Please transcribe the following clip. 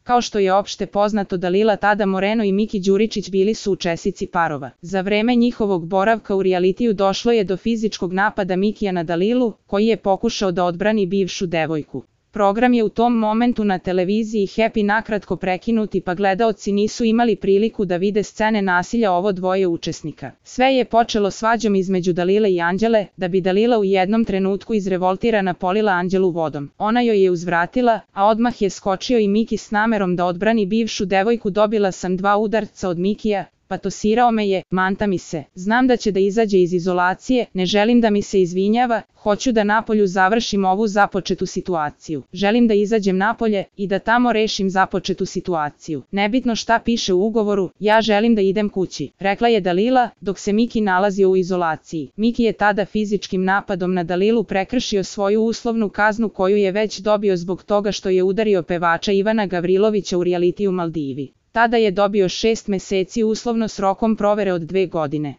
Kao što je opšte poznato, Dalila Tada Moreno i Miki Đuričić bili su učesnici parova. Za vreme njihovog boravka u realitiju došlo je do fizičkog napada Mikija na Dalilu, koji je pokušao da odbrani bivšu devojku. Program je u tom momentu na televiziji Happy nakratko prekinuti, pa gledaoci nisu imali priliku da vide scene nasilja ovo dvoje učesnika. Sve je počelo svađom između Dalile i Anđele, da bi Dalila u jednom trenutku izrevoltirana polila Anđelu vodom. Ona joj je uzvratila, a odmah je skočio i Miki s namerom da odbrani bivšu devojku. Dobila sam 2 udarca od Mikija, patosirao me je, manta mi se. Znam da će da izađe iz izolacije, ne želim da mi se izvinjava, hoću da napolju završim ovu započetu situaciju. Želim da izađem napolje i da tamo rešim započetu situaciju. Nebitno šta piše u ugovoru, ja želim da idem kući, rekla je Dalila, dok se Miki nalazio u izolaciji. Miki je tada fizičkim napadom na Dalilu prekršio svoju uslovnu kaznu koju je već dobio zbog toga što je udario pevača Ivana Gavrilovića u realitiju Maldivi. Tada je dobio 6 meseci uslovno s rokom provere od 2 godine.